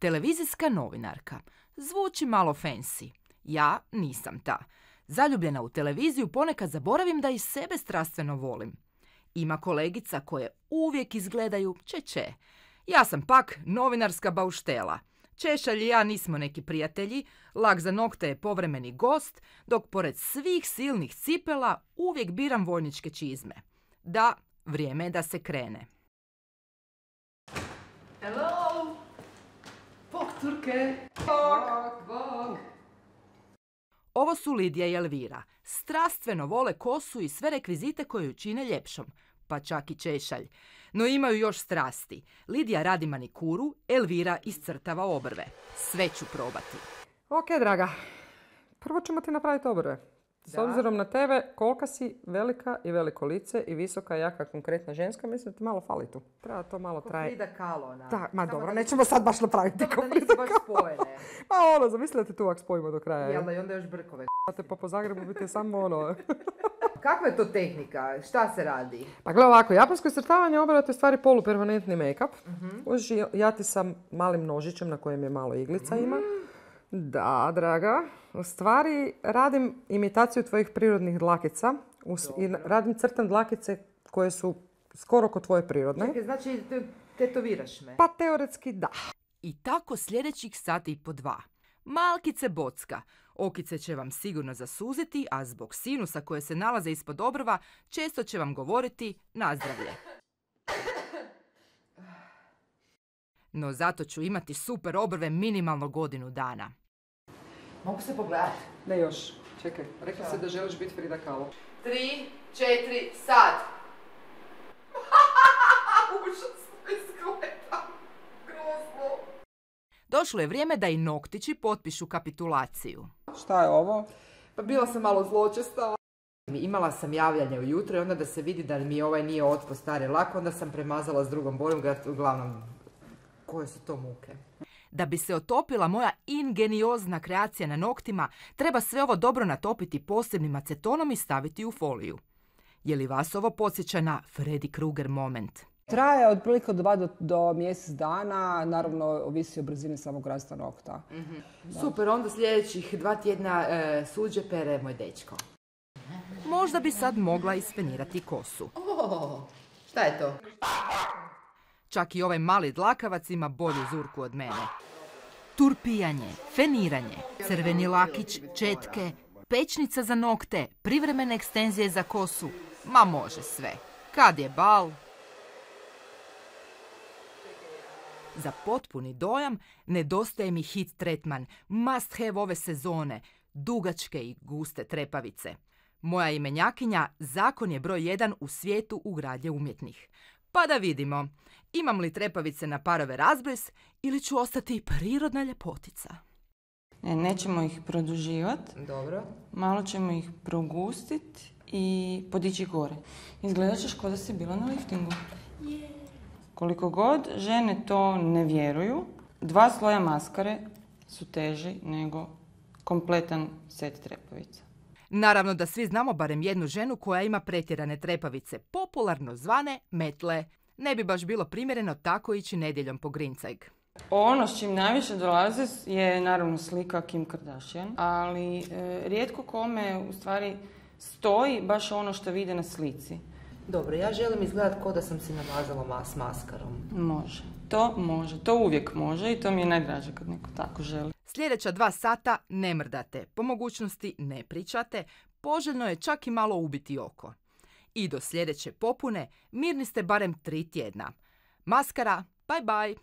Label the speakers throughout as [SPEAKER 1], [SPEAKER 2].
[SPEAKER 1] Televizijska novinarka. Zvuči malo fancy. Ja nisam ta. Zaljubljena u televiziju ponekad zaboravim da i sebe strastveno volim. Ima kolegica koje uvijek izgledaju če. Ja sam pak novinarska bauštela. Češalj i ja nismo neki prijatelji, lak za nokte je povremeni gost, dok pored svih silnih cipela uvijek biram vojničke čizme. Da, vrijeme je da se krene.
[SPEAKER 2] Hello! Bog, Turke! Bog!
[SPEAKER 1] Ovo su Lidija i Elvira. Strastveno vole kosu i sve rekvizite koje ju čine ljepšom, pa čak i češalj. No imaju još strasti. Lidija radi manikuru, Elvira iscrtava obrve. Sve ću probati.
[SPEAKER 3] Ok, draga. Prvo ćemo ti napraviti obrve. S obzirom na tebe, kolika si velika i veliko lice i visoka, jaka, konkretna ženska, mislim da ti malo fali tu. Treba to malo traje.
[SPEAKER 2] Frida Kahlo, ona.
[SPEAKER 3] Da, ma dobro, nećemo sad baš napraviti
[SPEAKER 2] Dobro da nisu baš spojene.
[SPEAKER 3] Ma zamisli da te tu ovak spojimo do kraja.
[SPEAKER 2] Jel da i onda još brkove.
[SPEAKER 3] Te pa po Zagrebu biti samo
[SPEAKER 2] Kakva je to tehnika? Šta se radi?
[SPEAKER 3] Pa gle ovako, japansko iscrtavanje obrva je u stvari polupermanentni make-up. Ja ti sa malim nožićem na kojem je malo iglica ima. Da, draga. U stvari radim imitaciju tvojih prirodnih dlakica. Crtam dlakice koje su skoro kod tvoje prirodne.
[SPEAKER 2] Čekaj, znači tetoviraš me?
[SPEAKER 3] Pa teoretski da.
[SPEAKER 1] I tako sljedećih sati i po 2. Malkice bocka. Okice će vam sigurno zasuziti, a zbog sinusa koje se nalaze ispod obrva, često će vam govoriti nazdravlje. No zato ću imati super obrve minimalno godinu dana.
[SPEAKER 2] Mogu se pogledati?
[SPEAKER 3] Ne još. Čekaj, rekla si da želiš biti Frida Kahlo.
[SPEAKER 2] 3, 4, sad! Užasno izgleda. Grozno.
[SPEAKER 1] Došlo je vrijeme da i noktići potpišu kapitulaciju.
[SPEAKER 3] Šta je ovo?
[SPEAKER 2] Pa bila sam malo zločesta. Imala sam javljanje ujutro i onda da se vidi da mi ovaj nije otpo stari lak, onda sam premazala s drugom bojom, uglavnom, koje su to muke.
[SPEAKER 1] Da bi se otopila moja ingeniozna kreacija na noktima, treba sve ovo dobro natopiti posebnim acetonom i staviti u foliju. Je li vas ovo podsjeća na Freddy Krueger moment?
[SPEAKER 4] Traje otprilike od 2 do mjesec dana, naravno ovisi o brzini samog rasta nokta.
[SPEAKER 2] Super, onda sljedećih 2 tjedna suđe pere moj dečko.
[SPEAKER 1] Možda bi sad mogla ispenirati kosu.
[SPEAKER 2] Šta je to?
[SPEAKER 1] Čak i ovaj mali dlakavac ima bolju zurku od mene. Turpijanje, feniranje, crveni lakić, četke, pečnica za nokte, privremene ekstenzije za kosu. Ma može sve. Kad je bal? Za potpuni dojam nedostaje mi hit tretman, must have ove sezone, dugačke i guste trepavice. Moja imenjakinja zakon je broj 1 u svijetu ugradnje umjetnih. Pa da vidimo, imam li trepavice na parove razbris ili ću ostati prirodna ljepotica.
[SPEAKER 5] Nećemo ih produživati.
[SPEAKER 2] Dobro.
[SPEAKER 5] Malo ćemo ih progustiti i podići gore. Izgledat ćeš kao da si bila na liftingu. Koliko god žene to ne vjeruju, 2 sloja maskare su teži nego kompletan set trepavica.
[SPEAKER 1] Naravno da svi znamo barem jednu ženu koja ima pretjerane trepavice, popularno zvane metle. Ne bi baš bilo primjereno tako ići nedjeljom po grincajg.
[SPEAKER 5] Ono s čim najviše dolaze je naravno slika Kim Kardashian, ali rijetko kome u stvari stoji baš ono što vide na slici.
[SPEAKER 2] Dobro, ja želim izgledati kao da sam si namazala s maskarom.
[SPEAKER 5] Može, to uvijek može i to mi je najdraže kad neko tako želi.
[SPEAKER 1] Sljedeća 2 sata ne mrdate, po mogućnosti ne pričate, poželjno je čak i malo ubiti oko. I do sljedeće popune mirni ste barem 3 tjedna. Maskara, bye bye!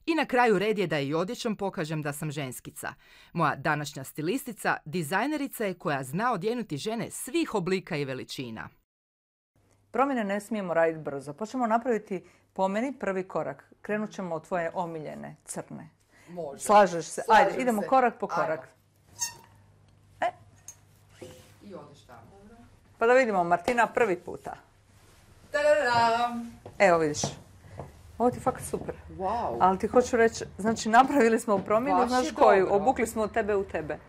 [SPEAKER 1] I na kraju red je da i odjećom pokažem da sam ženskica. Moja današnja stilistica, dizajnerica je koja zna odjenuti žene svih oblika i veličina.
[SPEAKER 6] Promjene ne smijemo raditi brzo. Počnemo napraviti po meni prvi korak. Krenut ćemo od tvoje omiljene, crne.
[SPEAKER 2] Može.
[SPEAKER 6] Slažeš se? Ajde, idemo korak po korak.
[SPEAKER 2] I odeš tamo.
[SPEAKER 6] Pa da vidimo, Martina, prvi puta.
[SPEAKER 2] Tadadam!
[SPEAKER 6] Evo vidiš. Ovo ti je fakat super.
[SPEAKER 2] Wow.
[SPEAKER 6] Ali ti hoću reći, znači napravili smo promjenu,
[SPEAKER 2] Baš
[SPEAKER 6] znaš
[SPEAKER 2] je
[SPEAKER 6] koju?
[SPEAKER 2] dobro.
[SPEAKER 6] Obukli smo od tebe u tebe.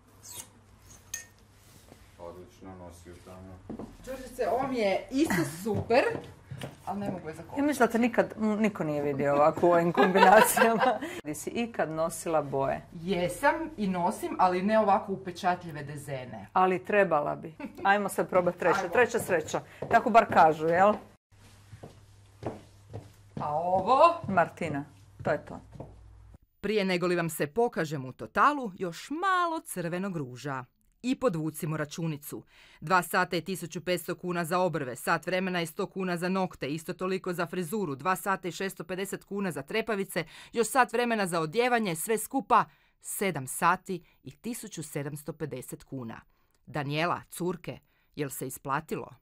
[SPEAKER 7] Odlično, nosi u tamo.
[SPEAKER 2] Đurđice, ovo mi je isto super, Ali ne mogu je
[SPEAKER 6] Ja
[SPEAKER 2] zakopati.
[SPEAKER 6] mislim da te nikad niko nije vidio ovako u ovim kombinacijama. Di si ikad nosila boje?
[SPEAKER 2] Jesam i nosim, ali ne ovako upečatljive dezene.
[SPEAKER 6] Ali trebala bi. Ajmo sad probati treće.
[SPEAKER 2] Ajmo.
[SPEAKER 6] Treća sreća. Tako bar kažu, jel?
[SPEAKER 2] A ovo?
[SPEAKER 6] Martina, to je to.
[SPEAKER 1] Prije nego li vam se pokažem u totalu, još malo crvenog ruža. I podvucimo računicu. 2 sata je 1500 kuna za obrve, sat vremena je 100 kuna za nokte, isto toliko za frizuru, 2 sata i 650 kuna za trepavice, još sat vremena za odjevanje, sve skupa 7 sati i 1750 kuna. Danijela, curke, jel se isplatilo?